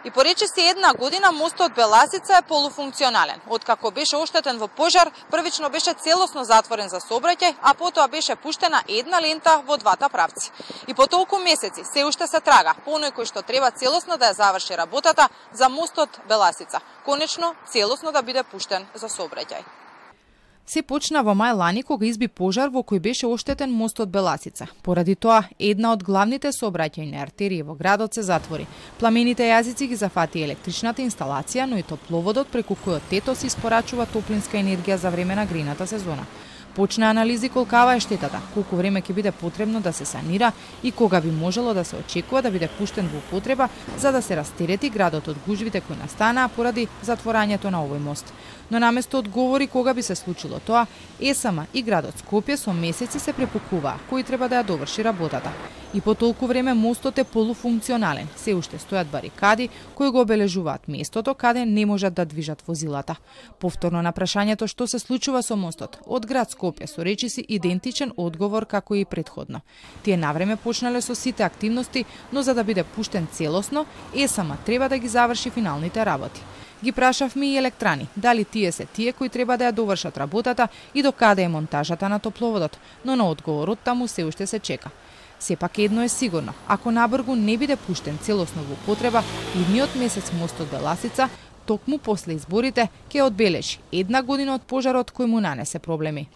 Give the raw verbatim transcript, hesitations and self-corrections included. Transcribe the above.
И поречиси една година мостот Беласица е полуфункционален. Откако беше оштетен во пожар, првично беше целосно затворен за сообраќај, а потоа беше пуштена една лента во двата правци. И по толку месеци се уште се трага по оној кој што треба целосно да ја заврши работата за мостот Беласица, конечно целосно да биде пуштен за сообраќај. Се почна во мај лани кога изби пожар во кој беше оштетен мостот Беласица. Поради тоа, една од главните сообраќајни артерии во градот се затвори. Пламените јазици ги зафати електричната инсталација, но и топловодот преку којот ТЕТОС испорачува топлинска енергија за време на грејната сезона. Почна анализи колкава е штетата, колку време ќе биде потребно да се санира и кога би можело да се очекува да биде пуштен во употреба за да се растерети градот од гужвите кои настанаа поради затворањето на овој мост. Но наместо одговори кога би се случило тоа, ЕСМ и градот Скопје со месеци се препукуваа кој треба да ја доврши работата. И по толку време мостот е полуфункционален, се уште стојат барикади кои го обележуваат местото каде не можат да движат возилата. Повторно на прашањето што се случува со мостот, од град Скопје со речиси идентичен одговор како и претходно. Тие навреме почнале со сите активности, но за да биде пуштен целосно, ЕСМ треба да ги заврши финалните работи. Ги прашавме и електрани, дали тие се тие кои треба да ја довршат работата и до каде е монтажата на топловодот, но на одговорот таму се уште се чека. Сепак едно е сигурно, ако набргу не биде пуштен целосно во употреба, идниот месец мостот Беласица, токму после изборите, ќе одбележи една година од пожарот кој му нанесе проблеми.